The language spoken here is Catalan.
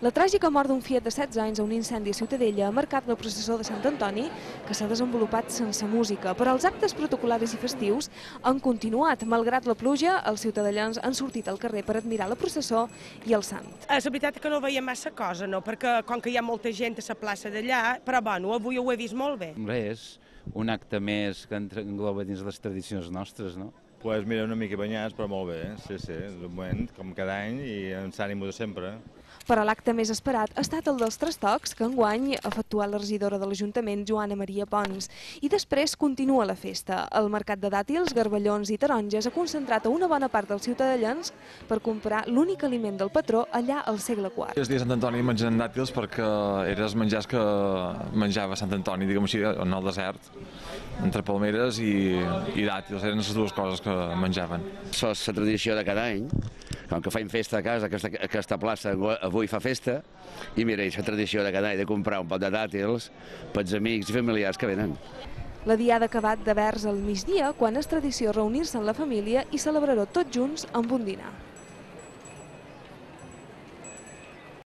La tràgica mort d'un fiet de 16 anys a un incendi a Ciutadella ha marcat la processó de Sant Antoni, que s'ha desenvolupat sense música, però els actes protocol·laris i festius han continuat. Malgrat la pluja, els ciutadellans han sortit al carrer per admirar la processó i el sant. És veritat que no veiem massa cosa, no? Perquè com que hi ha molta gent a la plaça d'allà, però bueno, avui ho he vist molt bé. És un acte més que engloba dins les tradicions nostres, no? Pues mira, una mica banyats, però molt bé, sí, de moment, com cada any, i amb l'ànimo de sempre. Però l'acte més esperat ha estat el dels trastocs, que enguany ha efectuat la regidora de l'Ajuntament, Joana Maria Pons. I després continua la festa. El mercat de dàtils, garballons i taronges ha concentrat a una bona part dels ciutadans per comprar l'únic aliment del patró allà al segle IV. El dia de Sant Antoni mengen dàtils perquè eren els menjars que menjava Sant Antoni, diguem així, en el desert, entre palmeres i dàtils, eren les dues coses que menjaven. Això és la tradició de cada any, com que faim festa a casa, aquesta plaça avui fa festa, i mira, és la tradició de cada any de comprar un pot de dàtils pels amics i familiars que venen. La diada ha acabat de vers al migdia, quan és tradició reunir-se amb la família i celebrar-ho tots junts amb un dinar.